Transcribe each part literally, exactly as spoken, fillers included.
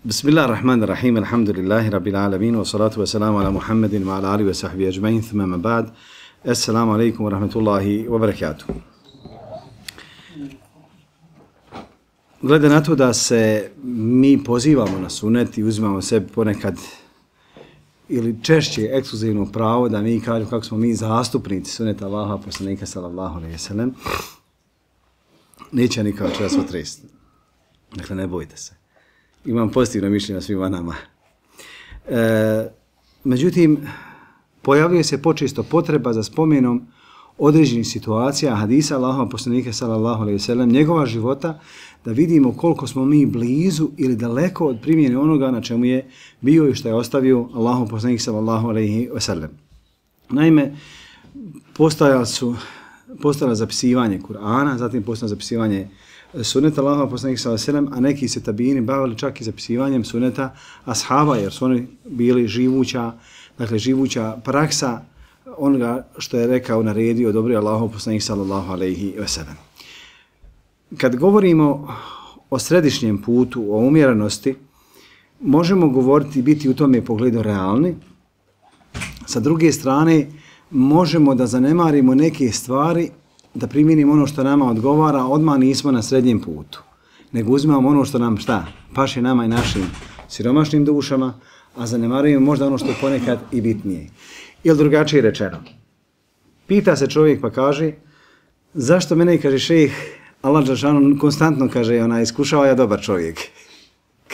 Bismillahirrahmanirrahim, alhamdulillahi rabbil alamin, wa salatu wa salamu ala Muhammedin wa ala alihi wa sahbihi ajma'in, thumma ma ba'd. Assalamu alaikum wa rahmatullahi wa barakatuh. Glede na to da se mi pozivamo na sunet i uzimamo sebi ponekad ili češće ekskluzivno pravo da mi kažemo kako smo mi zastupnici suneta Allaha poslanika sallallahu alejhi ve sellem, neće nikada će vas otresti. Dakle, ne bojte se. Imam pozitivno mišljenje na svima nama. E, međutim, pojavljuje se počesto potreba za spomenom određenih situacija hadisa Allahova poslanika sallallahu alejhi ve sellem, njegova života, da vidimo koliko smo mi blizu ili daleko od primjene onoga na čemu je bio i što je ostavio Allahov poslanik sallallahu alejhi ve sellem. Naime, postojalo su postojalo zapisivanje Kur'ana, zatim postojalo zapisivanje suneta Allahova poslanika sallallahu alejhi ve sellem, a neki se tabini bavili čak i zapisivanjem suneta ashaba, jer su oni bili živuća, dakle živuća praksa onoga što je rekao, naredio, odobrio Allahov poslanik sallallahu alejhi ve sellem. Kad govorimo o središnjem putu, o umjerenosti, možemo govoriti i biti u tome pogledu realni. Sa druge strane, možemo da zanemarimo neke stvari, da primjenimo ono što nama odgovara, odmah nismo na srednjem putu. Nego uzimamo ono što nam šta? Paše nama i našim siromašnim dušama, a zanemarujemo možda ono što je ponekad i bitnije. Ili drugačije rečeno. Pita se čovjek pa kaže, zašto mene, kaže šejh, Allah dželešanu konstantno kaže, onaj, iskušava ja dobar čovjek.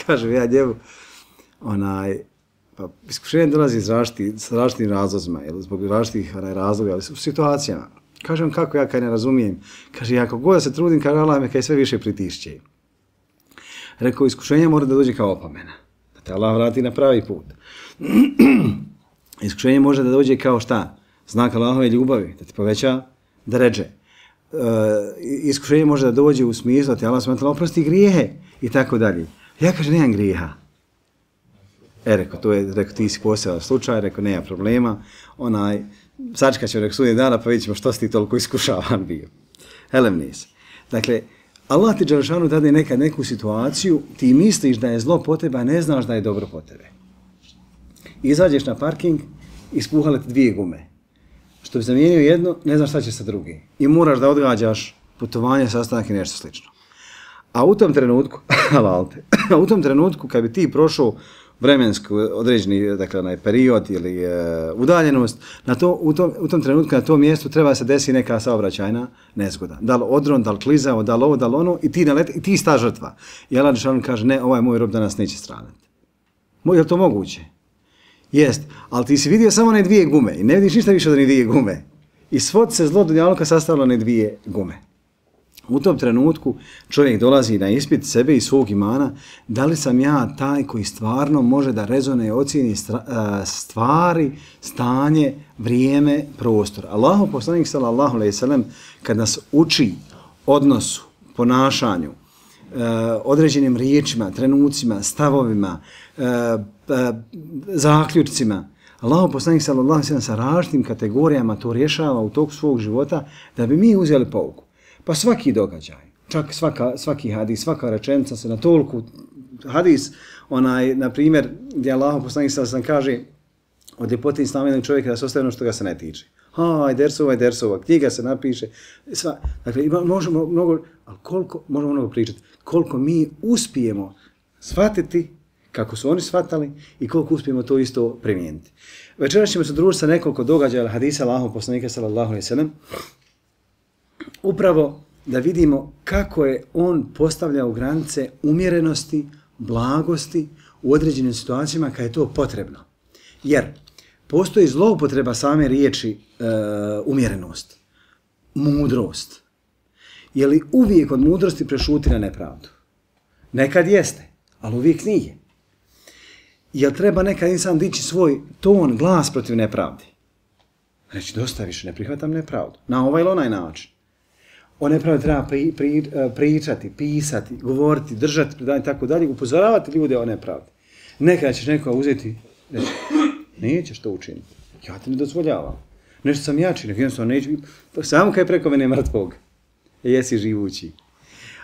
Kaže ja njemu, onaj, pa iskušenje dolazi iz različitih, s različitim razlozima, ili zbog različitih onaj, razloga, ali u situacijama. Kažem kako ja kad ne razumijem. Kaže, ja kako god se trudim, kaže Allah me kaj sve više pritišće. Rekao, iskušenje mora da dođe kao opomena. Da te Allah vrati na pravi put. Iskušenje može da dođe kao šta? Znak Allahove ljubavi, da ti poveća deredže. Uh, iskušenje može da dođe u smislu da ti Allah subhanahu wa ta'ala oprosti grijehe i tako dalje. Ja kaže, nemam grijeha. E, rekao, to je, rekao, ti si posebno slučaj, rekao, nema problema. Onaj, sačekat ćemo, rekao, sudnjeg dana, pa vidjet ćemo što si ti toliko iskušavan bio. Helem nis. Dakle, Allah ti dželešanu dade nekad neku situaciju, ti misliš da je zlo po tebe, a ne znaš da je dobro po tebe. Izađeš na parking, ispuhale ti dvije gume. Što bi zamijenio jedno, ne znaš šta će sa drugi. I moraš da odgađaš putovanje, sastanak i nešto slično. A u tom trenutku, a u tom trenutku kad bi ti prošao vremenski određeni, dakle, onaj period ili e, udaljenost, na to, u, tom, u tom trenutku na tom mjestu treba se desi neka saobraćajna nezgoda. Da li odron, da li klizao, da li ovo, da li ono, i ti, naleti, i ti sta žrtva. I Allah dželešanu kaže, ne, ovaj moj rob danas neće stradati. Je li to moguće? Jest, ali ti si vidio samo one dvije gume i ne vidiš ništa više od one dvije gume. I svod se zlo dunjaluka sastavilo na dvije gume. U tom trenutku čovjek dolazi na ispit sebe i svog imana, da li sam ja taj koji stvarno može da rezone i ocijeni stvari, stanje, vrijeme, prostor. Allahov poslanik sallallahu alejhi ve sellem kad nas uči odnosu, ponašanju, određenim riječima, trenucima, stavovima, zaključcima, Allahov poslanik sallallahu alejhi ve sellem sa različitim kategorijama to rješava u toku svog života da bi mi uzeli pouku. Pa svaki događaj, čak svaka, svaki hadis, svaka rečenica se na toliko hadis, onaj, na primjer, gdje Allahov poslanik sallallahu alejhi ve sellem kaže od ljepote islama jednog čovjeka da se ostaje ono što ga se ne tiče. Aj, dersova i dersova, knjiga se napiše, sva, dakle, možemo mnogo, ali koliko, možemo mnogo pričati, koliko mi uspijemo shvatiti kako su oni shvatali i koliko uspijemo to isto primijeniti. Večeras ćemo se družiti sa nekoliko događaja hadisa Allahov poslanika sallallahu alejhi ve sellem, upravo da vidimo kako je on postavljao granice umjerenosti, blagosti u određenim situacijama kad je to potrebno. Jer postoji zloupotreba same riječi e, umjerenost, mudrost. Je li uvijek od mudrosti prešuti na nepravdu? Nekad jeste, ali uvijek nije. Jel treba nekad insan dići svoj ton, glas protiv nepravdi? Reći, dosta više, ne prihvatam nepravdu. Na ovaj ili onaj način. O nepravdi treba pri, pri, pričati, pisati, govoriti, držati, predavanje i tako dalje, upozoravati ljude o nepravdi. Nekad ćeš nekoga uzeti, reći, nećeš to učiniti. Ja te ne dozvoljavam. Nešto sam jači, nek jednostavno neću. Samo kaj preko mene mrtvog. Jesi živući.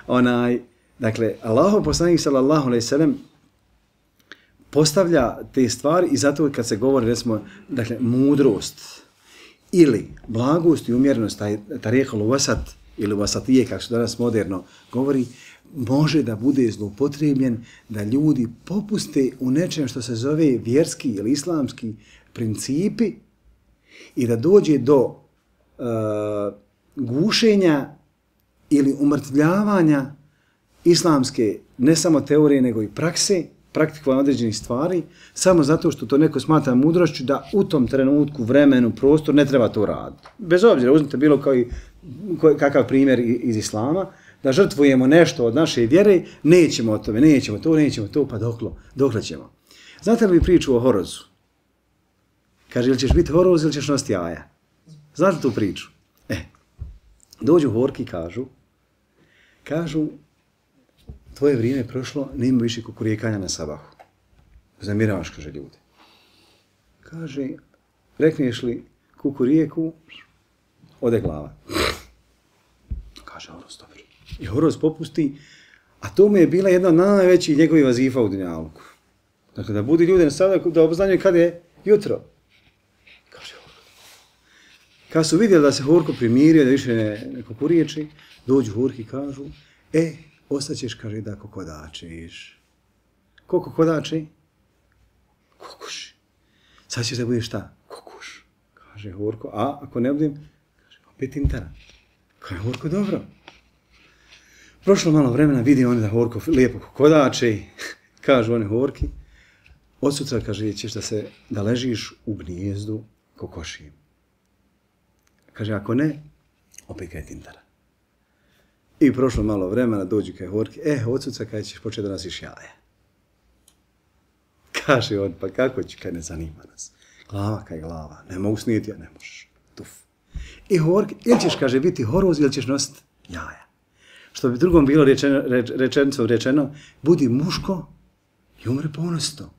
Onaj, dakle, Allahov poslanik sallallahu alejhi ve sellem postavlja te stvari i zato kad se govori, recimo, dakle, mudrost ili blagost i umjerenost, taj tarihul vasat ili vasatije, kako se danas moderno govori, može da bude zloupotrebljen da ljudi popuste u nečem što se zove vjerski ili islamski principi i da dođe do uh, gušenja ili umrtvljavanja islamske ne samo teorije nego i prakse, praktikovanja određenih stvari, samo zato što to neko smatra mudrošću da u tom trenutku, vremenu, prostor ne treba to raditi. Bez obzira, uzmite bilo koji, kakav primjer iz islama, da žrtvujemo nešto od naše vjere, nećemo o tome, nećemo to, nećemo to, pa doklo, dokle ćemo. Znate li priču o horozu? Kaže, ili ćeš biti horoz ili ćeš nositi jaja? Znate tu priču? E, dođu horki i kažu, kažu, tvoje vrijeme prošlo, nema više kukurijekanja na sabahu. Zamiravaš, kaže ljudi. Kaže, rekneš li kukurijeku, ode glava. Kaže horoz, dobro. I horoz popusti, a to mu je bila jedna od najvećih njegovih vazifa u dunjaluku. Dakle, da budi ljudi na sabahu, da obznanjuju kada je jutro. Kaže horoz. Kad su vidjeli da se horko primirio, da više ne, ne kukuriječi, dođu horki i kažu, e, ostaćeš, kaže, da kokodačiš. Ko kokodači? Kokoši. Sad ćeš da budeš šta? Kokoš. Kaže horko, a ako ne budem, kaže, opet intara. Kaže horko, dobro. Prošlo malo vremena, vidi oni da horko lijepo kokodači. Kažu oni horki. Od sutra, kaže, ćeš da se, da ležiš u gnijezdu kokoši. Kaže, ako ne, opet kaj tintara. I prošlo malo vremena, dođu kaj horki, e, od sutra kaj ćeš početi da nosiš jaje. Kaže on, pa kako ću, kaj ne zanima nas. Glava kaj glava, ne mogu snijeti, ja ne možeš. Tuf. I horki, ili ćeš, kaže, biti horoz, ili ćeš nositi jaja. Što bi drugom bilo rečeno, reč, rečenicom rečeno, budi muško i umre ponosno.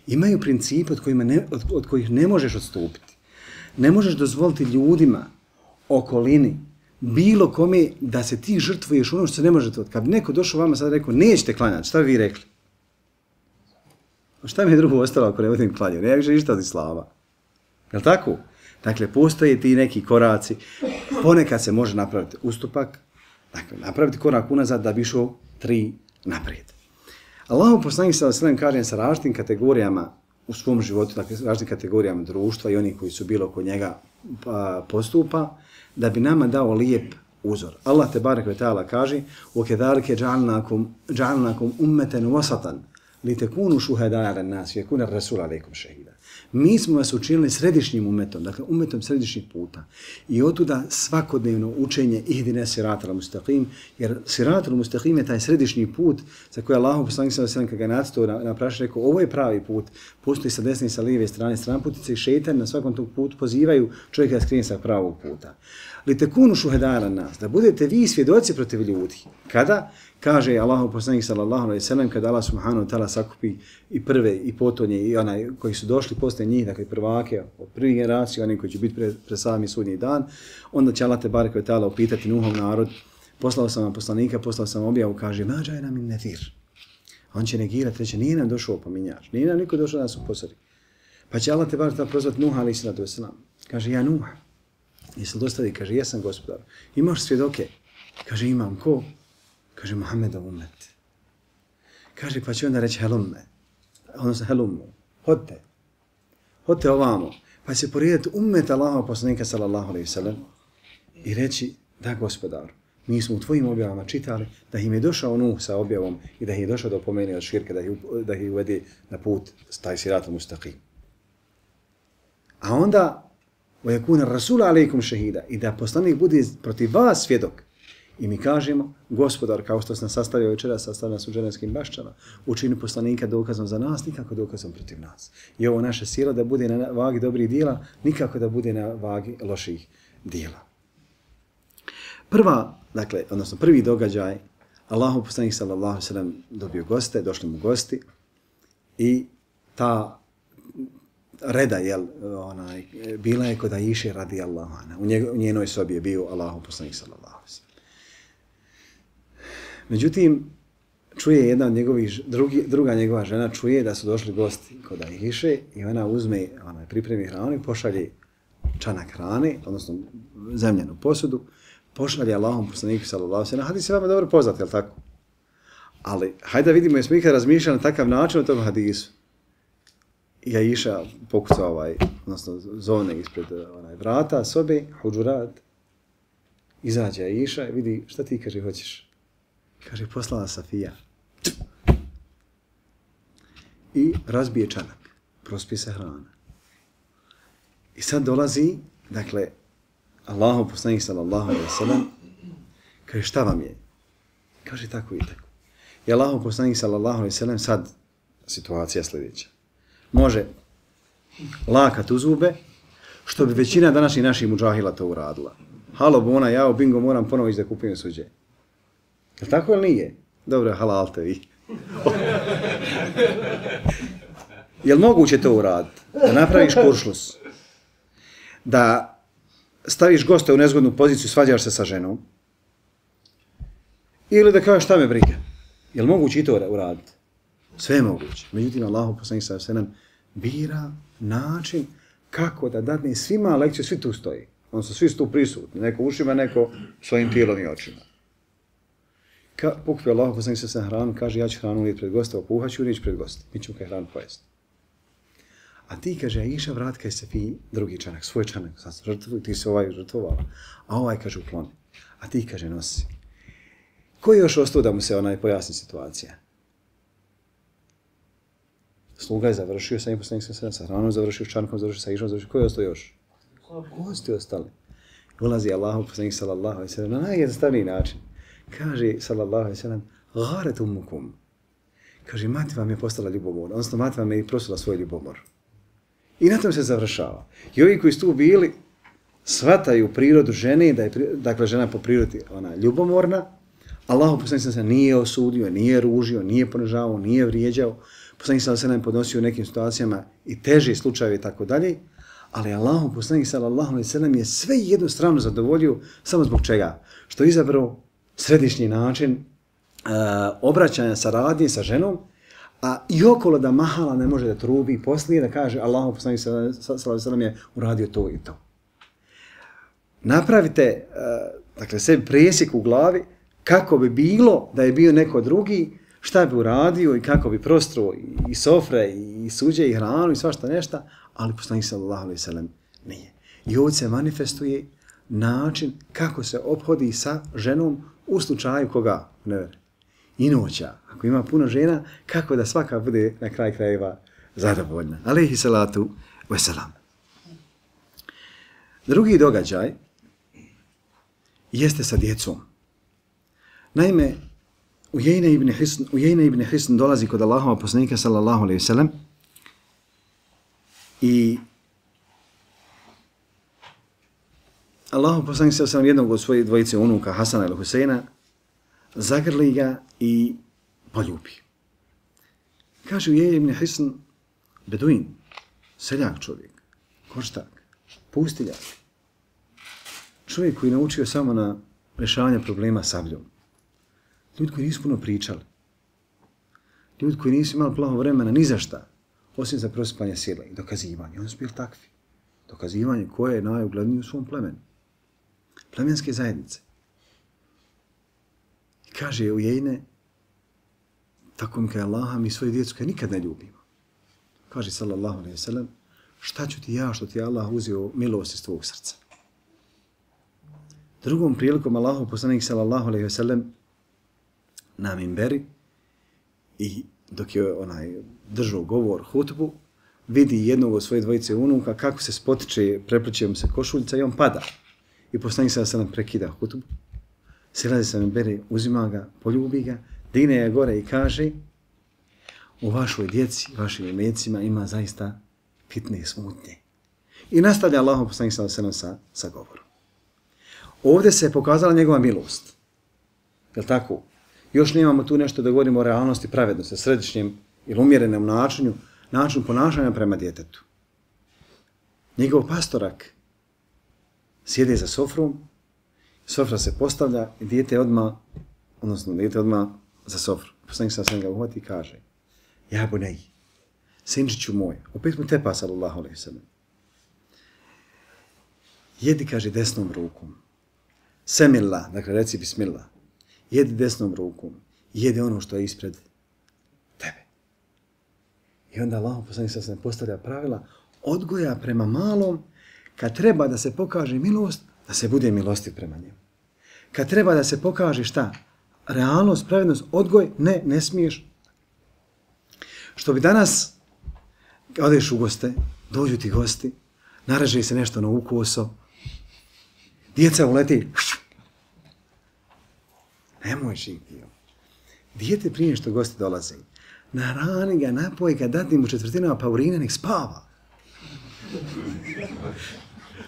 Imaju principe od, kojima ne, od, od kojih ne možeš odstupiti. Ne možeš dozvoliti ljudima, okolini, bilo kome da se ti žrtvuješ ono što se ne može to. Kad bi neko došao vama sad rekao, nećete klanjati, šta bi vi rekli? Šta mi je drugo ostalo ako ne budem klanjao? Ne više ništa od islama. Je li tako? Dakle, postoje ti neki koraci. Ponekad se može napraviti ustupak, dakle, napraviti korak unazad da bi išao tri naprijed. Allahu poslanik sallallahu alejhi ve sellem kaže sa različitim kategorijama u svom životu, dakle, različitim kategorijama društva i oni koji su bilo kod njega postupa, da bi nama dao lijep uzor. Allah te barek ve taala kaže: "Wa-kedhalike ja'alnakum ja'alnakum ummatan wasatan litakunu shuhada'a 'ala an-nas wa yakuna ar-rasulu 'alaykum shahida." Mi smo vas učinili središnjim umetom, dakle umetom središnjih puta. I otuda svakodnevno učenje ihdine siratal mustaqim, jer siratal mustaqim je taj središnji put za koji Allah poslanik sallallahu alejhi ve sellem kad ga nacrtao na, na prašinu rekao, ovo je pravi put. Postoji sa desne i sa lijeve strane stranputice i šejtan na svakom tog putu pozivaju čovjeka da skrene sa pravog puta. Litakunu shuhada'a 'ala nas, da budete vi svjedoci protiv ljudi. Kada? Kaže Allahu poslanik sallallahu alejhi ve sellem kada Allah subhanahu wa ta'ala sakupi i prve i potonje i onaj koji su došli posle njih, dakle prvake od prvih generacija, oni koji će biti pre, pre sami sudnji dan, onda će Allah te barek ve ta'ala upitati Nuhov narod, poslao sam vam poslanika, poslao sam objavu, kaže ma džajna min nadhir. On će negirati, reći nije nam došao opominjač, nije nam niko došao da nas upozori. Pa će Allah te barek ta'ala prozvati Nuha alejhi salatu vesselam. Kaže ja Nuh, jesi dostavi, kaže jesam gospodar. Imaš svjedoke? Kaže imam, ko? Kaže Muhammedov umet. Kaže pa će onda reći helumme, odnosno helummu, hodite, hodite ovamo. Pa će porediti umet Allahov poslanika sallallahu alejhi ve sellem i reći da gospodar, mi smo u tvojim objavama čitali da im je došao Nuh sa objavom i da ih je došao do pomeni od širka, da ih, da ih uvede na put taj siratul mustaqim. A onda وَيَكُونَ الرَّسُولَ عَلَيْكُمْ شَهِيدًا i da poslanik bude protiv vas svjedok. I mi kažemo, gospodar, kao što se nas sastavio večera, sastavio nas u dženevskim bašćama, učini poslanika dokazom za nas, nikako dokazom protiv nas. I ovo naša sila da bude na vagi dobrih dijela, nikako da bude na vagi loših dijela. Prva, dakle, odnosno prvi događaj, Allahu poslanik sallallahu alejhi ve sellem dobio goste, došli mu gosti i ta reda, jel, onaj, bila je kod Aiše radijallahu anha. U, njeg, u njenoj sobi je bio Allahu poslanik sallallahu alejhi ve sellem. Međutim, čuje jedna od njegovih, drugi, druga njegova žena čuje da su došli gosti kod Ajše i ona uzme, ona pripremi hranu i pošalje čanak hrane, odnosno zemljenu posudu, pošalje Allahom poslaniku sallallahu alejhi ve sellem. Hadis je vama dobro poznat, je li tako? Ali, hajde da vidimo, jesmo ikad razmišljali na takav način o tom hadisu. I Ajša pokuca ovaj, odnosno zone ispred onaj vrata sobe, huđurat, izađe Ajša i vidi, šta ti, kaže, hoćeš? Kaže, poslala Safija. I razbije čanak, prospije se hrana. I sad dolazi, dakle, Allahov poslanik sallallahu alejhi ve sellem, kaže, šta vam je? Kaže, tako i tako. I Allahov poslanik sallallahu alejhi ve sellem, sad situacija sljedeća. Može lakat u zube, što bi većina današnjih naših mudžahila to uradila. Halo, bona, jao, bingo, moram ponovo ići da kupim suđe. Je li tako ili nije? Dobro, halal te vi. Je li moguće to uraditi? Da napraviš kuršlus? Da staviš goste u nezgodnu poziciju, svađaš se sa ženom? Ili da kažeš šta me briga? Je li moguće i to uraditi? Sve je moguće. Međutim, Allahu poslanik sallallahu alejhi ve sellem bira način kako da dadne svima lekciju, svi tu stoji. On su svi tu prisutni, neko ušima, neko svojim tijelom i očima. Ka, pokupio Allahu poslanik sallallahu alejhi ve sellem hranu, kaže ja ću hranu uvijek pred gosta, opuhat ću i pred gosta. Mi ćemo kaj hranu pojesti. A ti, kaže, Ajša, vrat kaj se fi drugi čanak, svoj čanak, sad žrtvu, ti se ovaj žrtvovala, a ovaj, kaže, ukloni. A ti, kaže, nosi. Ko je još ostao da mu se onaj pojasni situacija? Sluga je završio, sa njim poslanik sallallahu alejhi ve sellem, sa hranom završio, s čankom završio, sa Ajšom završio. Ko je ostao još? Gosti ostali. Ulazi Allahu poslanik sallallahu alejhi ve sellem na najjednostavniji način. Kaže, sallallahu alejhi ve sellem, garet ummukum. Kaže, mati vam je postala ljubomor, odnosno mati vam je i prosila svoj ljubomor. I na tom se završava. I ovi koji su tu bili, shvataju prirodu žene, da je, dakle, žena po prirodi ona ljubomorna, Allahu poslanik sallallahu alejhi ve sellem nije osudio, nije ružio, nije ponižavao, nije vrijeđao, poslanik sallallahu alejhi ve sellem podnosio u nekim situacijama i teži slučajevi i tako dalje, ali Allahu poslanik sallallahu alejhi ve sellem je sve jednu stranu zadovoljio samo zbog čega? Što je izabrao središnji način uh, obraćanja, saradnje sa ženom, a i okolo da mahala ne može da trubi poslije da kaže Allahu poslanik sallallahu alejhi ve sellem je uradio to i to. Napravite uh, dakle sebi presjek u glavi kako bi bilo da je bio neko drugi, šta bi uradio i kako bi prostruo i, i sofre i, i suđe i hranu i svašta nešta, ali poslanik sallallahu alejhi ve sellem nije. I ovdje se manifestuje način kako se ophodi sa ženom u slučaju koga? Nevere. I noća. Ako ima puno žena, kako da svaka bude na kraj krajeva zadovoljna. Alejhi salatu vesselam. Drugi događaj jeste sa djecom. Naime, Ujejna ibn Hisn, Ujejna ibn Hisn dolazi kod Allahova poslanika sallallahu alejhi ve sellem i Allahov poslanik sallallahu alejhi ve sellem jednog od svojih dvojice unuka Hasana ili Huseina zagrli ga i poljubi. Kaže Ujejna ibn Hisn, beduin, seljak čovjek, koštak, pustiljak, čovjek koji naučio samo na rješavanje problema sabljom. Ljudi koji nisu puno pričali. Ljudi koji nisu imali plavo vremena ni za šta, osim za prosipanje sile i dokazivanje. Oni su bili takvi. Dokazivanje koje je najuglednije u svom plemenu. Plemenske zajednice. I kaže Ujejne, tako mi kaj Allaha, mi svoju djecu kaj nikad ne ljubimo. Kaže sallallahu alejhi ve sellem, šta ću ti ja što ti Allah uzeo milost iz tvojeg srca. Drugom prilikom Allahov poslanik sallallahu alejhi ve sellem na minberi i dok je onaj držao govor hutbu, vidi jednog od svoje dvojice unuka kako se spotiče, prepliče mu se košuljica i on pada. I poslanik sallallahu alejhi ve sellem prekida hutbu, silazi sa minberi, uzima ga, poljubi ga, digne je gore i kaže u vašoj djeci, vašim imecima ima zaista fitne smutnje. I nastavlja Allahov poslanik sallallahu alejhi ve sellem sa, sa govorom. Ovdje se je pokazala njegova milost. Je li tako? Još nemamo tu nešto da govorimo o realnosti pravednosti, središnjem ili umjerenom načinu, načinu ponašanja prema djetetu. Njegov pastorak sjede za sofrom, sofra se postavlja i dijete odmah, odnosno dijete odmah za sofru. Poslanik sa sam ga uhvati i kaže, ja bunej, sinčiću moj, opet mu tepa sallallahu alejhi ve sellem. Jedi, kaže, desnom rukom. Semillah, dakle reci bismillah. Jedi desnom rukom. Jedi ono što je ispred tebe. I onda Allah poslanik sa sam postavlja pravila odgoja prema malom, kad treba da se pokaže milost, da se bude milostiv prema njemu. Kad treba da se pokaže šta? Realnost, pravednost, odgoj, ne, ne smiješ. Što bi danas, odeš u goste, dođu ti gosti, naraže se nešto na ukoso, djeca uleti, nemoj živiti. Dijete prije što gosti dolaze, narani ga, napoji ga, dati mu četvrtinama paurina, nek spava.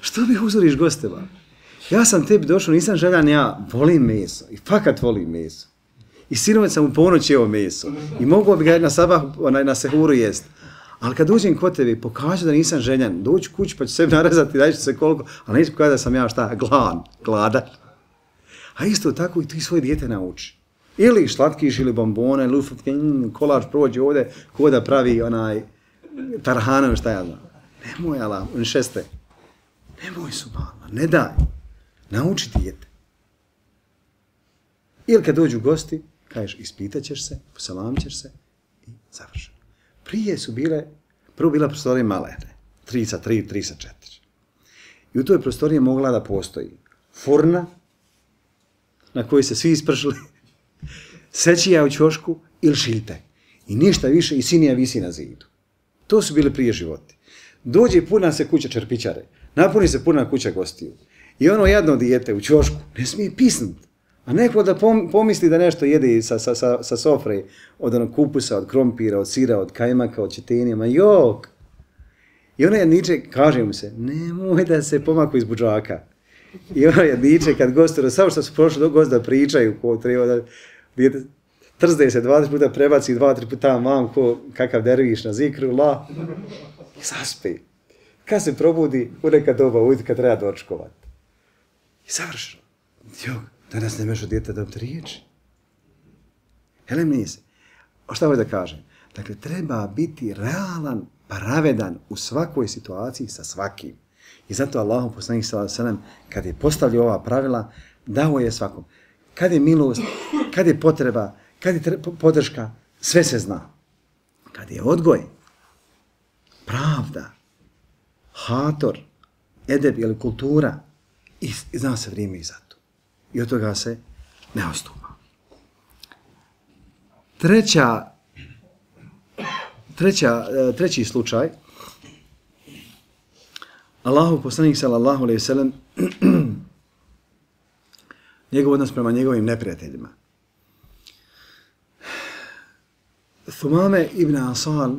Što bi uzoriš gosteva? Ja sam tebi došao, nisam željan, ja volim meso. I fakat volim meso. I sinovac sam u ponoć jeo meso. I mogu bi ga na sabah, na, na sehuru jest. Ali kad uđem kod tebi, pokažu da nisam željan, dođu kući pa ću sebi narezati, daći se koliko, ali neću pokazati da sam ja šta, gladan, gladan. A isto tako i ti svoje dijete nauči. Ili šlatkiš, ili bombone, ili ufotke, mm, kolač prođe ovdje, ko da pravi onaj tarhanom, šta ja znam. Nemoj, ala, on šeste. Nemoj, subhanallah, ne daj. Nauči dijete. Ili kad dođu gosti, kažeš, ispitat ćeš se, posalamit ćeš se i završeno. Prije su bile, prvo bila prostorija malene, tri sa tri, tri sa četiri. I u toj prostoriji mogla da postoji furna, na kojoj se svi ispršili, sećija u ćošku ili šilte. I ništa više, i sinija visi na zidu. To su bile prije životi. Dođe puna se kuća čerpičare, napuni se puna kuća gostiju. I ono jedno dijete u ćošku ne smije pisnut. A neko da pomisli da nešto jede sa, sa, sa, sa sofre, od onog kupusa, od krompira, od sira, od kajmaka, od četenija, ma jok. I ono jedniče, kaže mu se, nemoj da se pomaku iz budžaka. I ono jedniče, kad gostu, samo što su prošli do gosta pričaju, ko treba da dijete trzde se dvadeset puta, prebaci dva, tri puta mam, ko, kakav derviš na zikru, la, i zaspe. Kad se probudi, u neka doba ujutro, kad treba dočkovati. I savršeno. Jok. Danas ne možeš djeta dobiti riječi. Hele mi se. O šta hoće da kažem? Dakle, treba biti realan, pravedan u svakoj situaciji sa svakim. I zato Allahom poslanik sallallahu alejhi ve sellem, kad je postavljao ova pravila, dao je svakom. Kad je milost, kad je potreba, kad je podrška, sve se zna. Kad je odgoj, pravda, hator, edeb ili kultura, i, i zna se vrijeme i za to. I od toga se ne ostupa. Treća, treća, treći slučaj, Allahov poslanik sallallahu alejhi ve sellem, njegov odnos prema njegovim neprijateljima. Thumame ibn Asal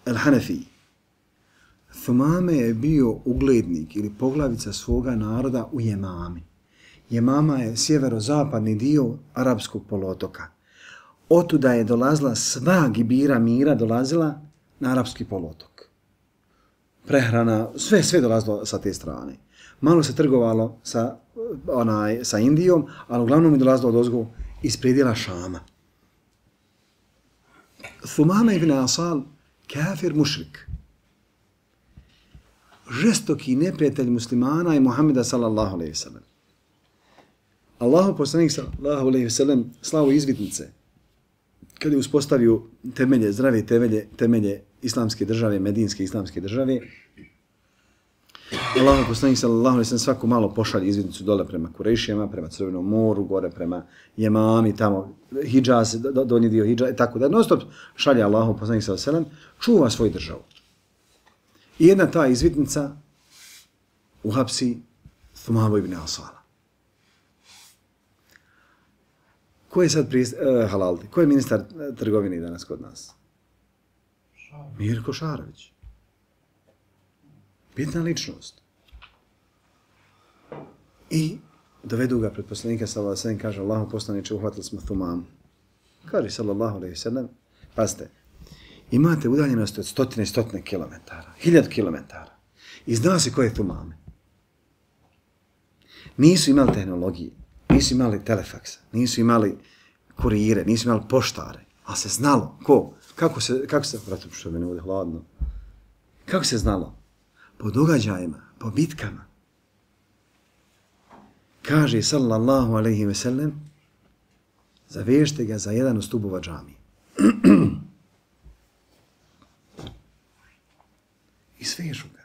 al-Hanafi. Thumame je bio uglednik ili poglavica svoga naroda u Jemami. Jemama je sjeverozapadni dio arapskog poluotoka. Otuda je dolazila sva gibira mira, dolazila na arapski poluotok. Prehrana, sve, sve dolazilo sa te strane. Malo se trgovalo sa, onaj, sa Indijom, ali uglavnom je dolazilo od ozgo iz predjela Šama. Thumame ibn Asal, kafir mušrik. Žestoki neprijatelj muslimana i Muhammeda sallallahu alejhi ve sellem. Allahu poslanik sallallahu alejhi ve sellem slao izvidnice kad je uspostavio temelje, zdrave temelje, temelje islamske države, medinske islamske države. Allahu poslanik sallallahu alejhi ve sellem svako malo pošalje izvidnicu dole prema Kurejšijama, prema Crvenom moru, gore prema Jemami, tamo Hidžaz, donji dio Hidžaz, i tako da non stop šalje Allahu poslanik sallallahu alejhi ve sellem, čuva svoju državu. I jedna ta izvidnica uhapsi Thumamu ibn Asala. Ko je sad prist, uh, halaldi? Ko je ministar trgovine danas kod nas? Šarović. Mirko Šarović. Bitna ličnost. I dovedu ga pred poslanika sallallahu alejhi ve sellem, kaže Allahu poslaniče, uhvatili smo Thumamu. Kaže sallallahu alejhi ve sellem, pazite, imate udaljenost od stotine i stotine kilometara, hiljadu kilometara. I zna se ko je Thumame. Nisu imali tehnologije, nisu imali telefaksa, nisu imali kurire, nisu imali poštare, ali se znalo. Ko? Kako se, kako se, brate, što mi ne bude hladno. Kako se znalo? Po događajima, po bitkama. Kaže, sallallahu alaihi ve sellem, zavežite ga za jedan od stubova džamije. I svežu ga.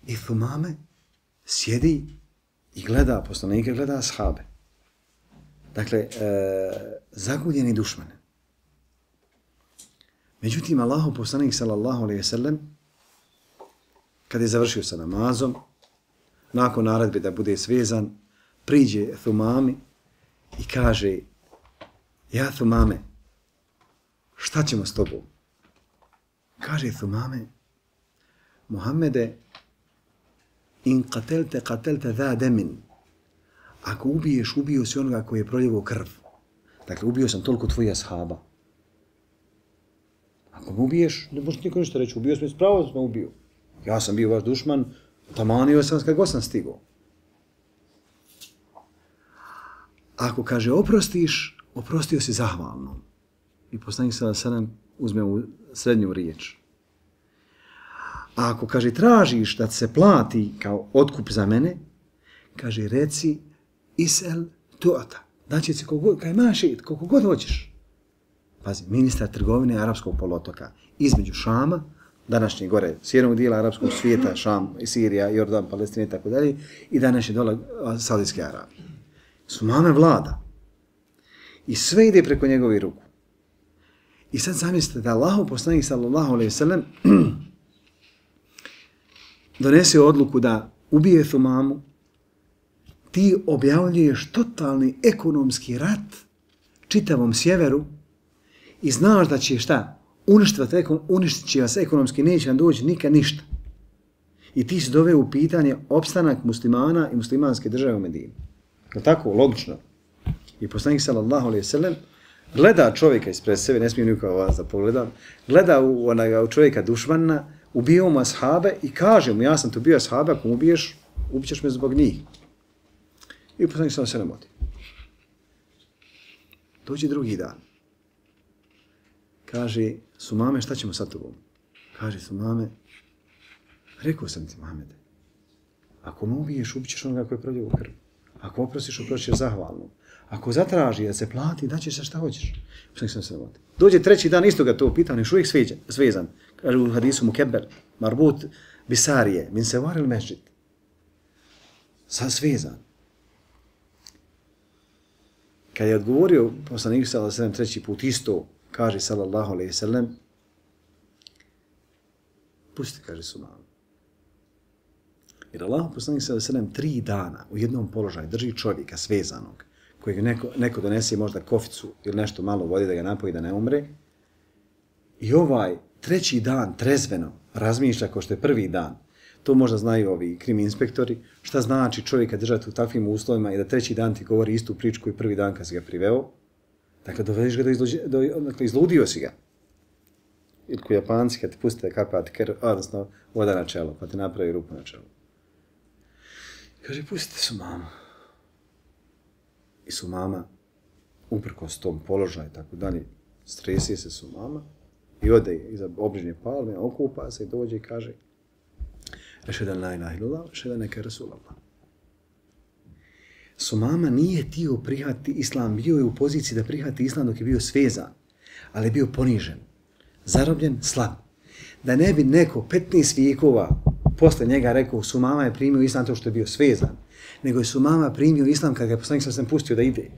I Thumame sjedi i gleda poslanike, gleda ashabe. Dakle, e, zaguljeni dušmane. Međutim, Allahov poslanik, sallallahu alaihi ve sellem, kad je završio sa namazom, nakon naredbe da bude svezan, priđe Thumami i kaže, ja Thumame, šta ćemo s tobom? Kaže Thumame, Muhammede, in qatelte, qatelte dha demin. Ako ubiješ, ubio si onoga koji je proljevo krv. Dakle, ubio sam toliko tvojih ashaba. Ako me ubiješ, ne možeš niko ništa reći, ubio sam i spravo sam me ubio. Ja sam bio vaš dušman, tamanio sam kad god sam stigao. Ako kaže oprostiš, oprostio si zahvalno. I poslanik sallallahu alejhi ve sellem uzme u srednju riječ. A ako kaže tražiš da se plati kao otkup za mene, kaže reci isel tu'ata. Znači se koliko god, kaj imaš i koliko god hoćeš. Pazi, ministar trgovine Arapskog poluotoka između Šama, današnje gore sjevernog dijela arapskog svijeta, Šam, Sirija, Jordan, Palestina i tako dalje, i današnje dole Saudijske Arabije. Thumame vlada. I sve ide preko njegovih ruku. I sad zamislite da Allahov poslanik sallallahu alejhi ve sellem donese odluku da ubije Thumamu, ti objavljuješ totalni ekonomski rat čitavom sjeveru i znaš da će šta? Uništit će vas ekonomski, neće vam doći nikad ništa. I ti si doveo u pitanje opstanak muslimana i muslimanske države u Medini. Je tako? Logično. I poslanik sallallahu alejhi ve sellem gleda čovjeka ispred sebe, ne smijem nikako vas da pogledam, gleda u, onaj, u čovjeka dušmana, ubio mu ashabe i kaže mu, ja sam tu bio ashabe, ako mu ubiješ, ubićeš me zbog njih. I poslanik sallallahu alejhi ve sellem odi. Dođe drugi dan. Kaže, Thumame, šta ćemo sa tobom? Kaže, Thumame, rekao sam ti, Muhammede, ako me ubiješ, ubićeš onoga koji je proljevo krv. Ako oprostiš, oprostiš zahvalno. Ako zatraži da se plati, daćeš se šta hoćeš. Sam se vodi. Dođe treći dan, isto ga to pitao, neš uvijek svezan. Kaže u hadisu Mukeber, marbut bisarije, min se varil mešđit. Sad svezan. Kad je odgovorio poslanik sallallahu alejhi ve sellem treći put isto, kaže sallallahu alejhi ve sellem, pusti, kaže Thumame. Jer Allah poslanik sallallahu alejhi ve sellem tri dana u jednom položaju drži čovjeka svezanog, kojeg neko, neko donese možda koficu ili nešto malo vode da ga napoji da ne umre. I ovaj treći dan trezveno razmišlja kao što je prvi dan. To možda znaju ovi krimi inspektori. Šta znači čovjeka držati u takvim uslovima i da treći dan ti govori istu priču koju prvi dan kad si ga priveo. Dakle, dovediš ga do, izluđe, do dakle, izludio si ga. Ili ko Japanci kad ti pustite kapati, odnosno voda na čelo, pa ti napravi rupu na čelo. Kaže, pustite Thumamu. I Thumama, uprkos tom položaju i tako dalje, stresi se Thumama i ode iza obližnje palme, okupa se i dođe i kaže Ešhedan la ilaha illallah, ešhedan neke Rasulallah. Thumama nije htio prihvatiti islam, bio je u poziciji da prihvati islam dok je bio svezan, ali je bio ponižen, zarobljen, slab. Da ne bi neko petnaest vijekova posle njega rekao Thumama je primio islam to što je bio svezan, nego je Thumama primio islam kad ga je poslanik sallallahu alejhi ve sellem pustio da ide.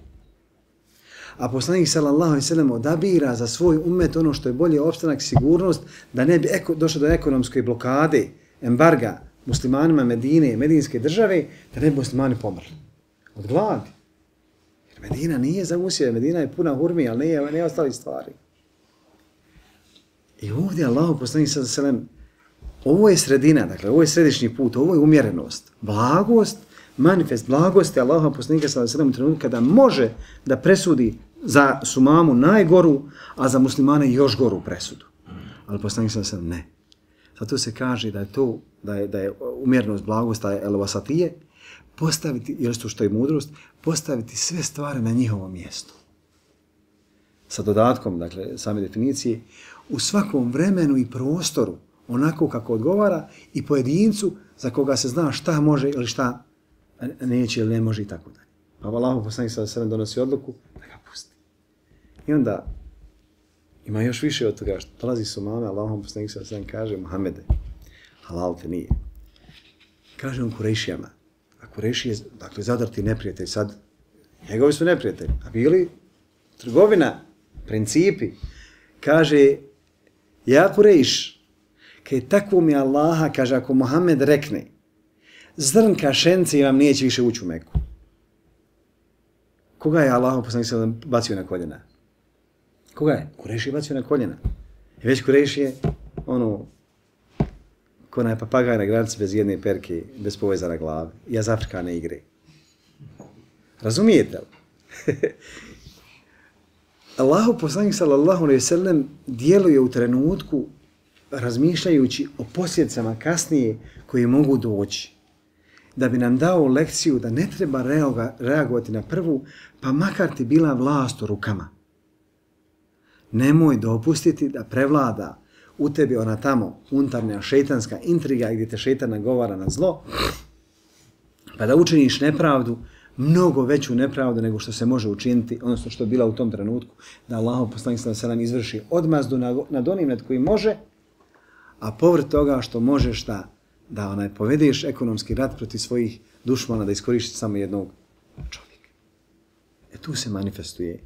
A poslanik sallallahu alejhi ve sellem odabira za svoj ummet ono što je bolje opstanak, sigurnost, da ne bi eko, došlo do ekonomske blokade, embarga muslimanima Medine, medinske države, da ne bi muslimani pomrli od gladi. Jer Medina nije za usjeve, Medina je puna hurmi, ali nije, nije ostali stvari. I ovdje Allah poslanik sallallahu alejhi ve sellem, ovo je sredina, dakle, ovo je središnji put, ovo je umjerenost, blagost, manifest blagosti Allaha poslanika sallallahu alejhi ve sellem u trenutku kada može da presudi za Thumamu najgoru, a za muslimane još goru presudu. Ali poslanik sallallahu alejhi ve sellem ne. Zato se kaže da je to, da je, da je umjerenost blagosta el-wasatije, postaviti, jer to što je mudrost, postaviti sve stvari na njihovo mjesto. sa dodatkom, dakle, same definicije, u svakom vremenu i prostoru, onako kako odgovara i pojedincu za koga se zna šta može ili šta neće ili ne može i tako dalje. Pa Allahu poslanik sallallahu alejhi ve sellem donosi odluku da ga pusti. I onda ima još više od toga što dolazi su mame, Allahu poslanik sallallahu alejhi ve sellem kaže Muhammede, halal te nije. Kaže on Kurejšijama, a Kurejši je, dakle, zadrti neprijatelj sad, njegovi su neprijatelji, a bili trgovina, principi. Kaže, ja Kurejš, kaj tako mi Allaha, kaže, ako Muhammed rekne, zrnka šence vam neće više ući u Meku. Koga je Allah poslanik sallallahu alejhi ve sellem bacio na koljena? Koga je? Kurejši je bacio na koljena. I već Kurejši je, ono, ko onaj papagaj na granici bez jedne perke, bez poveza na glavi. I iz Afrikane igre. Razumijete li? Allahu poslanik sallallahu alejhi ve sellem djeluje u trenutku razmišljajući o posljedicama kasnije koje mogu doći. Da bi nam dao lekciju da ne treba reagovati na prvu, pa makar ti bila vlast u rukama. Nemoj dopustiti da prevlada u tebi ona tamo unutarnja šejtanska intriga gdje te šejtan nagovara na zlo, pa da učiniš nepravdu, mnogo veću nepravdu nego što se može učiniti, odnosno što je bila u tom trenutku, da Allahov poslanik sallallahu alejhi ve sellem izvrši odmazdu nad onim nad koji može, a povrh toga što možeš da, da onaj, povedeš ekonomski rat protiv svojih dušmana, da iskoristiš samo jednog čovjeka. E tu se manifestuje.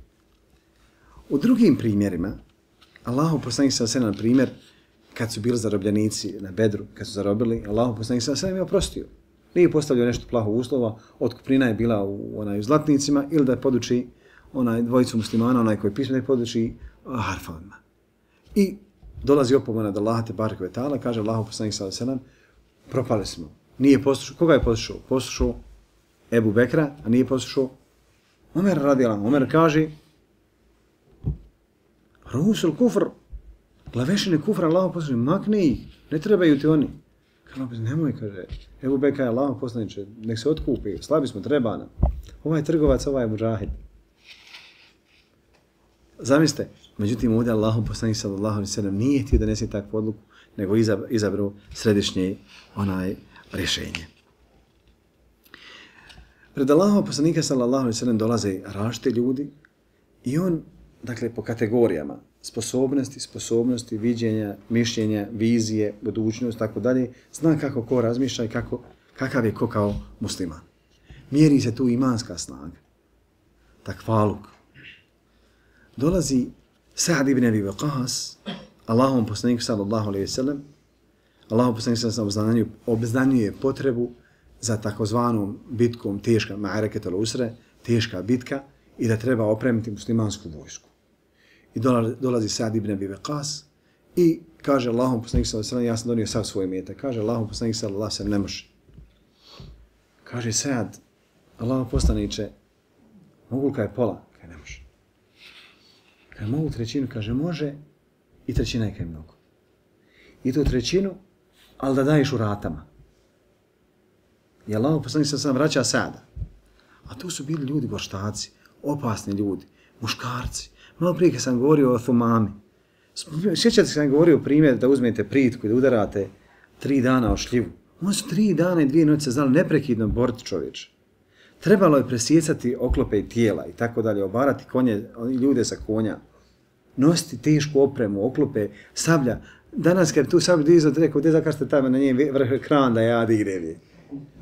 U drugim primjerima, Allahov poslanik sallallahu alejhi ve sellem, na primjer, kad su bili zarobljenici na Bedru, kad su zarobili, Allahov poslanik sallallahu alejhi ve sellem je oprostio. Nije postavljao nešto plaho uslova, otkupnina je bila u, onaj, u zlatnicima ili da poduči onaj dvojicu muslimana, onaj koji pismo da poduči harfovima. I dolazi opomena od Allaha te bareke ve taala, kaže Allahov poslanik sallallahu alejhi ve sellem, propali smo. Nije poslušao, koga je poslušao? Poslušao Ebu Bekra, a nije poslušao Omer radijallahu anhu. Omer kaže Rusul kufr, glavešine kufra Allahov poslanik, makni ih, ne trebaju ti oni. Kaže, nemoj, kaže, Ebu Bekra je Allahov poslaniče, nek se otkupi, slabi smo, treba nam. Ovaj trgovac, ovaj je muđahid. Zamislite, međutim, ovdje Allahov poslanik sallallahu alejhi ve sellem nije htio da nese takvu odluku, nego izabrao središnje onaj rješenje. Pred Allahov poslanika sallallahu alejhi ve sellem dolaze različiti ljudi i on, dakle, po kategorijama, sposobnosti, sposobnosti, viđenja, mišljenja, vizije, budućnost, tako dalje, zna kako ko razmišlja i kako, kakav je ko kao musliman. Mjeri se tu imanska snaga, takvaluk. Dolazi Sa'd ibn Abi Waqqas, Allahom poslaniku sallallahu alejhi ve sellem, Allahom poslaniku sallallahu alejhi ve sellem obznanjuje potrebu za takozvanom bitkom teška, ma'araketul usre, teška bitka, i da treba opremiti muslimansku vojsku. I dolazi Sa'd ibn Abi Waqqas i kaže Allahom poslanik sallallahu alejhi ve sellem, ja sam donio sav svoj imetak. Kaže Allahom poslanik sallallahu alejhi ve sellem, ne može. Kaže Sa'd, Allahom poslaniče, mogu li kaj pola? Kaj ne može. Kaj mogu trećinu? Kaže može i trećina je kaj mnogo. I tu trećinu, ali da daješ u ratama. I Allahom poslanik sallallahu alejhi ve sellem vraća Sa'da. A tu su bili ljudi gorštaci, opasni ljudi, muškarci. Malo prije kad sam govorio o Thumami. Sjećate se kad sam govorio primjer da uzmete pritku i da udarate tri dana o šljivu. Oni su tri dana i dvije noće znali neprekidno boriti čovječe. Trebalo je presjecati oklope i tijela i tako dalje, obarati konje, ljude sa konja, nositi tešku opremu, oklope, sablja. Danas kad tu sablju dizati, rekao, gdje zakažete tamo na nje vrh kran da ja dignem je.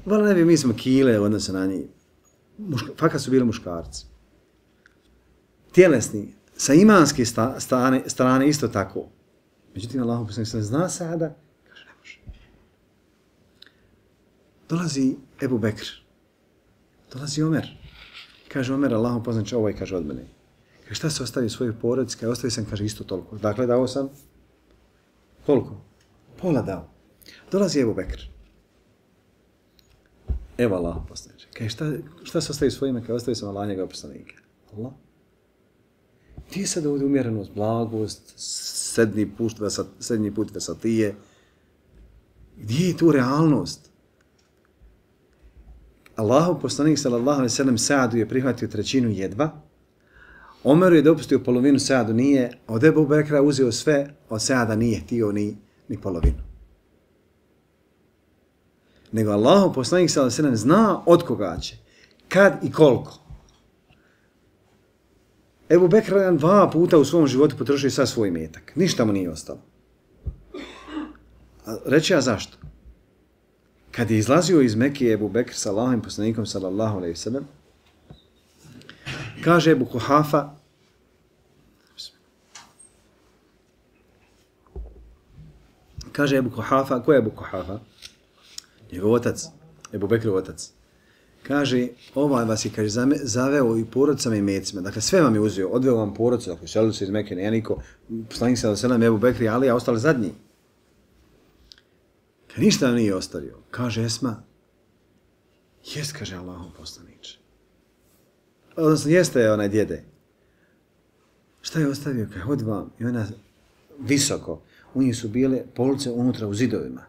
Vala ne bi, mi smo kile u odnosu na njih. Muška, fakat su bili muškarci. Tjelesni, sa imanske sta, strane, strane isto tako. Međutim, Allahov poslanik sallallahu alejhi ve sellem zna Sa'da, kaže ne može. Dolazi Ebu Bekr, dolazi Omer. Kaže Omer, Allahov poslanik, ovaj kaže od mene. Kaže, šta se ostavio svojoj porodici? Kaže, ostavio sam, kaže, isto toliko. Dakle, dao sam, koliko? Pola dao. Dolazi Ebu Bekr. Evo Allahov poslanik. Kaže, šta, šta se ostavio svojima? Kaže, ostavio sam Allah njega poslanika. Allah. Gdje je sad ovdje umjerenost, blagost, sedmi put, vesat, sedmi put vesatije? Gdje je tu realnost? Allahov poslanik sallallahu alejhi ve sellem Sa'du je prihvatio trećinu jedva, Omeru je dopustio polovinu, Saadu nije, od Ebu Bekra uzeo sve, od Saada nije htio ni, ni polovinu. Nego Allahov poslanik sallallahu alejhi ve sellem zna od koga će, kad i koliko. Ebu Bekr jedan dva puta u svom životu potrošio sad svoj metak. Ništa mu nije ostalo. A reći ja zašto? Kad je izlazio iz Mekije Ebu Bekr sa Allahovim poslanikom sallallahu alejhi ve sellem, kaže Ebu Kuhafa, kaže Ebu Kuhafa, ko je Ebu Kuhafa? Njegov otac, Ebu Bekrov otac. Kaže, ovaj vas je, kaže, zaveo i porodicama i mecima. Dakle, sve vam je uzeo, odveo vam porodicu, dakle, šelili se iz Mekke, nije niko, poslanik sallallahu alejhi ve sellem, Ebu Bekri, Ali, a ostali zadnji. Kad ništa vam nije ostavio, kaže Esma, jest, kaže Allahov poslaniče. Odnosno, jeste onaj djede. Šta je ostavio? Kaže, hod vam. I ona visoko. U njih su bile police unutra u zidovima.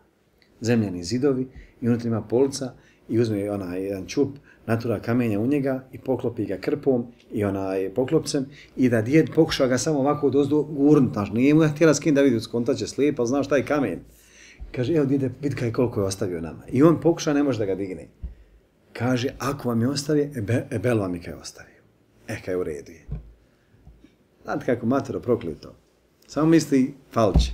Zemljani zidovi i unutra ima polica i uzme onaj jedan čup, natura kamenja u njega i poklopi ga krpom i onaj poklopcem i da djed pokuša ga samo ovako dozdo gurnut. Znaš, nije mu ga htjela skin da vidi, skontaće slijep, ali znaš šta je kamen. Kaže, evo djede, vidi kaj koliko je ostavio nama. I on pokuša, ne može da ga digne. Kaže, ako vam je ostavio, ebe, ebel vam je kaj ostavio. E, kaj u redu je. Znate kako matero proklito. Samo misli, falče.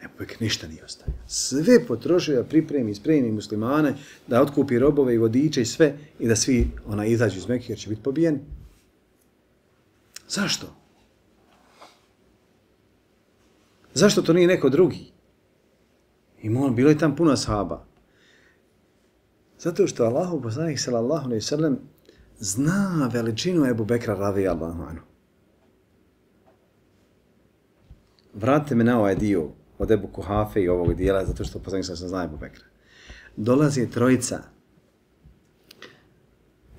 Ebu Bekr ništa nije ostavio. Sve potrošio da pripremi, spremi muslimane, da otkupi robove i vodiče i sve i da svi ona izađu iz Mekke jer će biti pobijeni. Zašto? Zašto to nije neko drugi? I molim, bilo je tam puno ashaba. Zato što Allahov poslanik sallallahu alejhi ve sellem zna veličinu Ebu Bekra radijallahu anhu. Vratite me na ovaj dio od Ebu Kuhafe i ovog dijela, zato što poslanik sallallahu alejhi ve sellem zna Ebu Bekra. Dolazi trojica.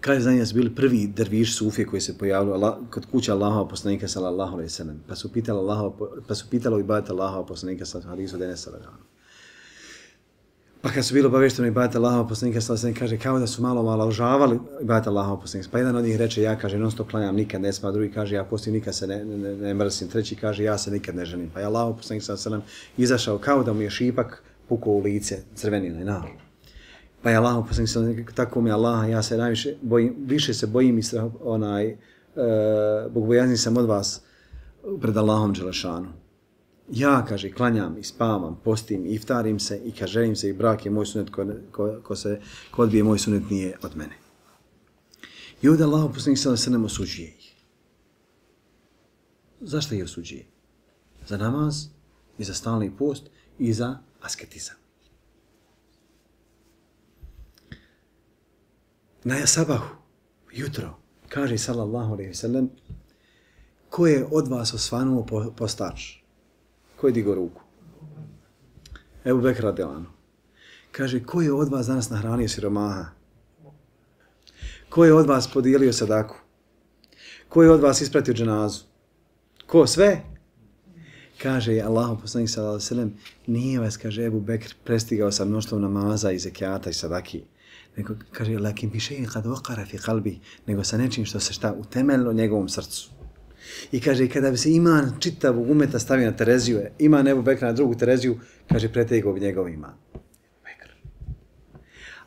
Kaže za njih su bili prvi derviš sufije koji se pojavili kod kuće Allahova poslanika sallallahu alejhi ve sellem. Pa su pitali Allahova, pa su pitali ibadeta Allahova poslanika sallallahu alejhi ve sellem, hadisu sallallahu. Pa kad su bili obavešteni ibadeta Allahova poslanika sallallahu alejhi ve sellem, kaže kao da su malo malo užavali ibadeta Allahova poslanika. Pa jedan od njih reče ja kaže non stop klanjam, nikad ne spa, drugi kaže ja poslije nikad se ne, ne, ne mrsim, treći kaže ja se nikad ne ženim. Pa je Allahov poslanik sallallahu alejhi ve sellem izašao kao da mu je šipak pukao u lice, crvenilo i nalo. Pa je Allah poslanik sallallahu alejhi ve sellem tako mi Allah, ja se najviše bojim, više se bojim i strah, onaj e, bogobojazan sam od vas pred Allahom dželešanu. Ja, kaže, klanjam i spavam, postim i iftarim se i kažerim se i brak je moj sunet, ko, ko, ko se ko odbije moj sunet nije od mene. I ovdje Allah poslanik sallallahu alejhi ve sellem osuđuje ih. Zašto ih osuđuje? Za namaz i za stalni post i za asketizam. Na sabahu, jutro, kaže sallallahu alejhi ve sellem, ko je od vas osvanuo po, postač? Ko je digo ruku? Ebu Bekr radijallahu anhu. Kaže, ko je od vas danas nahranio siromaha? Ko je od vas podijelio sadaku? Ko je od vas ispratio dženazu? Ko? Sve? Kaže Allahu poslanik sallallahu alejhi ve sellem, nije vas, kaže Ebu Bekr, prestigao sa mnoštvom namaza i zekijata i sadaki. Nego, kaže, lakin bi še'in kad vaqara fi qalbi, nego sa nečim što se šta utemeljilo njegovom srcu. I kaže, kada bi se iman čitavog umeta stavio na Tereziju, iman Ebu Bekra na drugu Tereziju, kaže, pretegao bi njegov iman. Bekr.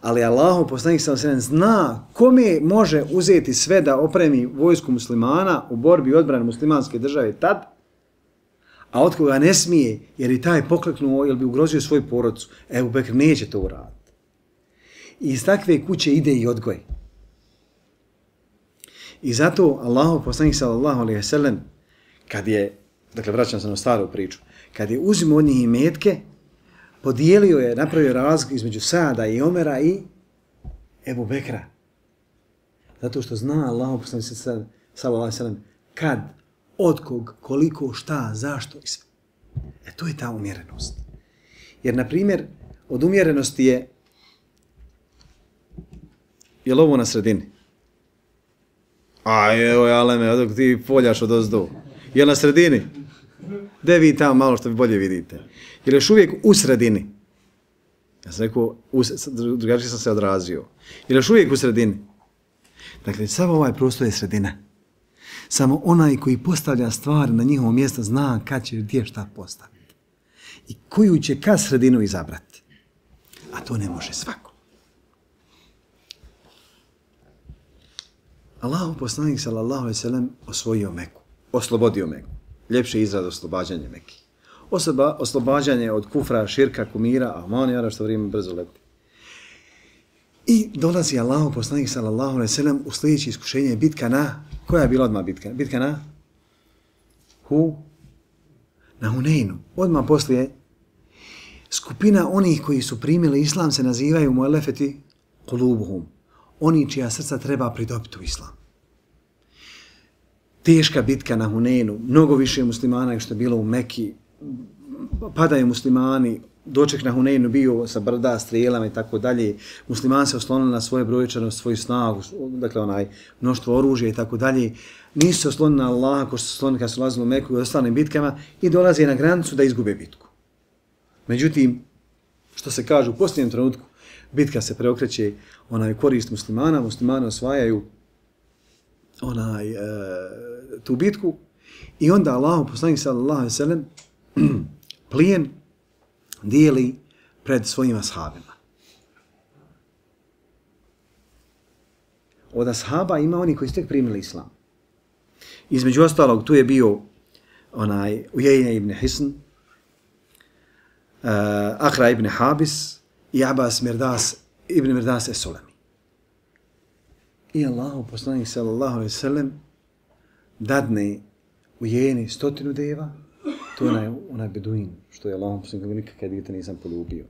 Ali Allahov poslanik sallallahu alejhi ve sellem zna kome može uzeti sve da opremi vojsku muslimana u borbi i odbrani muslimanske države tad, a od koga ne smije, jer i taj pokleknuo, jer bi ugrozio svoju porodicu. Ebu Bekr neće to uraditi. I iz takve kuće ide i odgoj. I zato Allahov poslanik sallallahu alejhi ve sellem, kad je, dakle vraćam se na staru priču, kad je uzimao od njih imetke, podijelio je, napravio razliku između Saada i Omera i Ebu Bekra. Zato što zna Allahov poslanik sallallahu alejhi ve sellem kad, od kog, koliko, šta, zašto i sve. E to je ta umjerenost. Jer, na primjer, od umjerenosti je je li ovo na sredini? A evo je aleme, odok ti poljaš od ozdo. Je li na sredini? Gde vi tamo malo što vi bolje vidite? Je li još uvijek u sredini? Ja sam rekao, drugačije sam se odrazio. Je li još uvijek u sredini? Dakle, samo ovaj prostor je sredina. Samo onaj koji postavlja stvari na njihovo mjesto zna kad će gdje šta postaviti. I koju će kad sredinu izabrati. A to ne može svako. Allahu poslanik sallallahu alejhi ve sellem osvojio Meku. Oslobodio Meku. Ljepši izraz oslobađanje Meki. Osoba, oslobađanje od kufra, širka, kumira, amonijara, što vrijeme brzo leti. I dolazi Allahu poslanik sallallahu alejhi ve sellem u sljedeće iskušenje bitka na, koja je bila odmah bitka? Bitka na? Hu? Na Huneinu. Odmah poslije skupina onih koji su primili islam se nazivaju muelefeti kulubuhum. Oni čija srca treba pridobiti u islam. Teška bitka na Huneinu, mnogo više muslimana nego što je bilo u Meki, padaju muslimani, doček na Huneinu bio sa brda, strijelama i tako dalje, muslimani se oslonili na svoje brojčanost, svoju snagu, dakle onaj mnoštvo oružja i tako dalje, nisu se oslonili na Allaha ko što se oslonili kad su lazili u Meku i ostalim bitkama i dolaze na granicu da izgube bitku. Međutim, što se kaže u posljednjem trenutku, bitka se preokreće onaj korist muslimana, muslimani osvajaju onaj, e, tu bitku i onda Allahu poslanik sallallahu alejhi ve sellem plijen dijeli pred svojim ashabima. Od ashaba ima oni koji su tek primili islam. Između ostalog tu je bio onaj Ujejne ibn Hisn, uh, Akra ibn Habis i Abbas Mirdas ibn Mirdas es-Sulemi. I Allahu poslanik sallallahu alejhi ve sellem dadne Ujejni stotinu deva. To je onaj, onaj beduin, što je Allahom poslanik nikakve dijete nisam poljubio.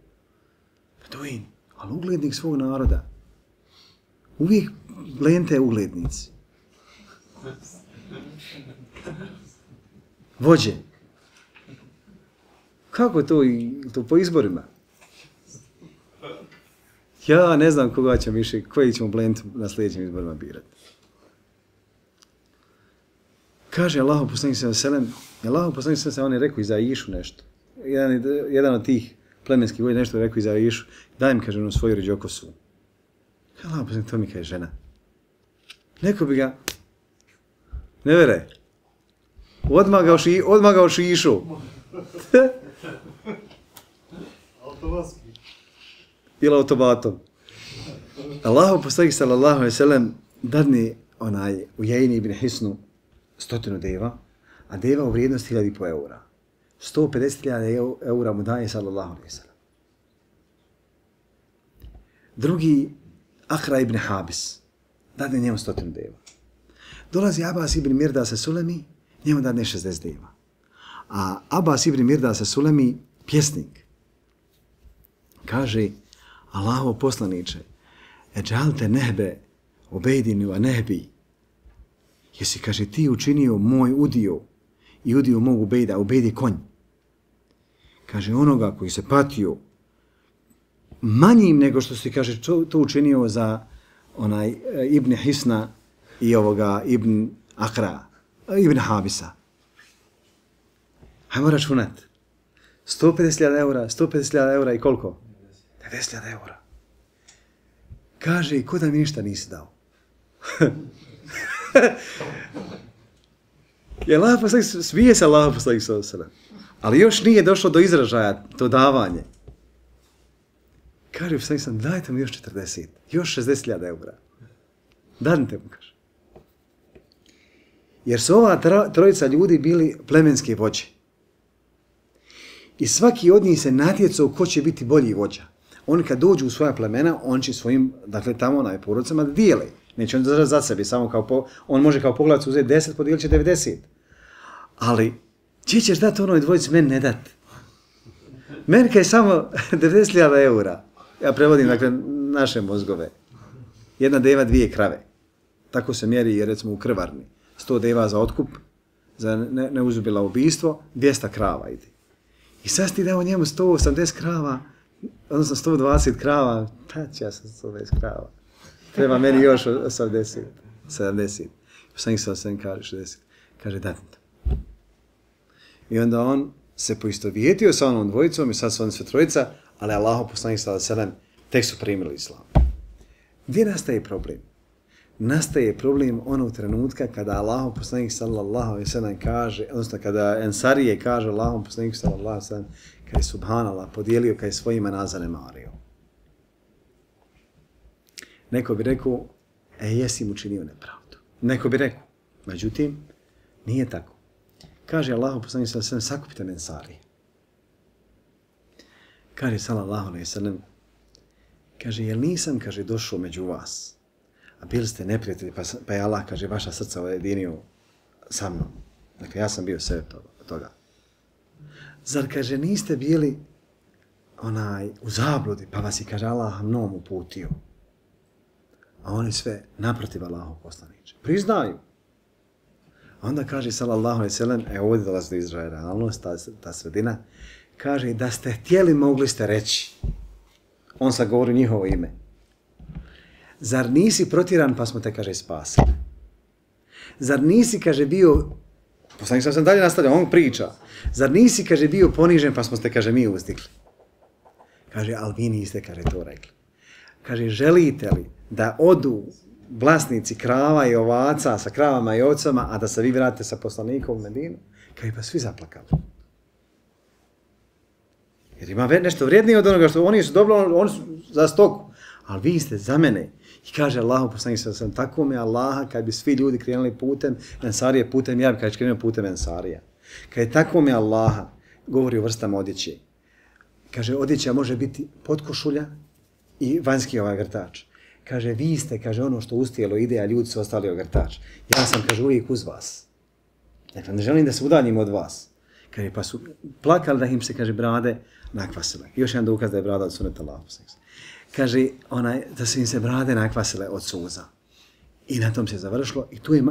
Beduin, ali uglednik svog naroda. Uvijek lente uglednici. Vođe. Kako to, to po izborima? Ja ne znam koga ćemo više, koji ćemo blent na sljedećim izborima birati. Kaže Allahu poslanik sallallahu alejhi ve sellem, Allahu poslanik sallallahu alejhi ve sellem, on je rekao i za Išu nešto. Jedan, jedan od tih plemenskih vođa nešto je rekao i za Išu, daj mi, kaže, ono svoju rođokosu. Allahu poslanik, to mi kaže žena. Neko bi ga, ne vere, odmagao, ši, odmagao Šišu. Automatski. Ili automatom. Allahu poslanik sallallahu alejhi ve sellem dadne onaj Ujejni ibn Hisnu stotinu deva, a deva u vrijednosti hiljadu i po eura. sto pedeset hiljada eura mu daje sallallahu alejhi ve sellem. Drugi Akra ibn Habis dadne njemu stotinu deva. Dolazi Abbas ibn Mirdas es-Sulemi, njemu dadne šezdeset deva. A Abbas ibn Mirdas es-Sulemi, pjesnik, kaže Allahov poslaniče, eđalte nehbe obejdinu a nehbi, jesi, kaže, ti učinio moj udio i udio mog ubejda, ubejdi konj. Kaže, onoga koji se patio manjim nego što si, kaže, to učinio za onaj Ibn Hisna i ovoga Ibn Akra, Ibn Habisa. Hajmo računat. sto pedeset hiljada eura, sto pedeset hiljada eura i koliko? devedeset hiljada eura. Kaže, i ko da mi ništa nisi dao? Je Allah poslanik, smije se Allah poslanik sallallahu alejhi ve sellem. Ali još nije došlo do izražaja to davanje. Kaže poslanik sallallahu alejhi ve sellem, dajte mi još četrdeset, još šezdeset hiljada eura. Danite mu, kaže. Jer su ova trojica ljudi bili plemenske vođe. I svaki od njih se natjecao ko će biti bolji vođa. Oni kad dođu u svoja plemena, on će svojim, dakle tamo na porodicama da dijele. Neće on držati za sebe, samo kao po, on može kao pogledac uzeti deset, podijelit će devedeset. Ali, či ćeš dati onoj dvojici, meni ne dati. Meni je samo devedeset hiljada eura. Ja prevodim, dakle, naše mozgove. Jedna deva, dvije krave. Tako se mjeri, jer recimo u krvarni. sto deva za otkup, za ne, neuzubila ubijstvo, dvjesto krava ide. I sad ti dao njemu sto osamdeset krava, odnosno sto dvadeset krava, pa će ja sam sto dvadeset krava. Treba meni još osamdeset, sedamdeset. Poslanik sallallahu alejhi ve sellem kaže šezdeset. Kaže, dati to. I onda on se poistovjetio sa onom dvojicom i sad su oni sve trojica, ali Allahu poslanik sallallahu alejhi ve sellem tek su primili islam. Gdje nastaje problem? nastaje problem onog trenutka kada Allahov poslanik sallallahu alejhi ve sellem kaže, odnosno kada Ensarije kaže Allahov poslanik sallallahu alejhi ve sellem, kada je subhanallah podijelio, kada je svojima nas zanemario. Neko bi rekao, e, jesi mu činio nepravdu. Neko bi rekao, međutim, nije tako. Kaže Allahov poslanik sallallahu alejhi ve sellem, sakupite me Ensarije. Kaže sallallahu alejhi ve sellem, kaže, jel nisam, kaže, došao među vas, a bili ste neprijatelji, pa, pa je Allah, kaže, vaša srca ujedinio sa mnom. Dakle, ja sam bio sve toga. Zar, kaže, niste bili onaj u zabludi, pa vas je, kaže, Allah mnom uputio. A oni sve naprotiv Allahov poslaniče. Priznaju. A onda kaže, sallallahu alejhi ve sellem, e ovdje dolazi do Izraela, realnost, ta, ta sredina, kaže, da ste htjeli, mogli ste reći. On sad govori njihovo ime. Zar nisi protiran pa smo te, kaže, spasili? Zar nisi, kaže, bio, poslanik sam dalje nastavlja, on priča, zar nisi, kaže, bio ponižen pa smo te, kaže, mi uzdigli? Kaže, ali vi niste, kaže, to rekli. Kaže, želite li da odu vlasnici krava i ovaca sa kravama i ovcama, a da se vi vratite sa poslanikom u Medinu? Kaže, pa svi zaplakali. Jer ima nešto vrijednije od onoga što oni su dobro, oni su za stoku. Ali vi ste za mene. I kaže Allahu poslanik sallallahu alejhi ve sellem, tako mi Allaha, kad bi svi ljudi krenuli putem Ensarije, putem ja bi kad krenuo putem Ensarija. Kad je tako mi Allaha, govori o vrstama odjeće. Kaže, odjeća može biti potkošulja i vanjski ovaj grtač. Kaže, vi ste, kaže, ono što ustijelo ide, a ljudi su ostali ogrtač. Ja sam, kaže, uvijek uz vas. Dakle, ne želim da se udaljim od vas. Kaže, pa su plakali da im se, kaže, brade nakvasile. Još jedan dokaz da je brada od suneta Allaha. Kaže, onaj, da su im se brade nakvasile od suza. I na tom se završilo. I tu je,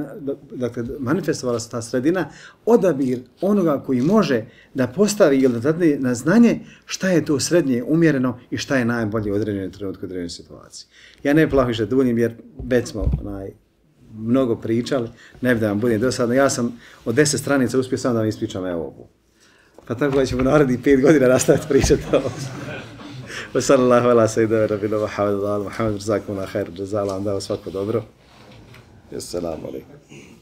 dakle, manifestovala se ta sredina, odabir onoga koji može da postavi ili da dadne na znanje šta je to srednje umjereno i šta je najbolje u određenom trenutku, u određenoj situaciji. Ja ne plahiše duljim jer već smo onaj, mnogo pričali, ne bi da vam budem dosadno. Ja sam od deset stranica uspio sam da vam ispričam evo ovu. Pa tako da ćemo narediti pet godina nastaviti pričati ovo. Wa sallallahu ala sayyidina rabbina Muhammad wa ala Muhammad, jazakumullahu khairan, jazala vam dao svako dobro. Assalamu alaikum.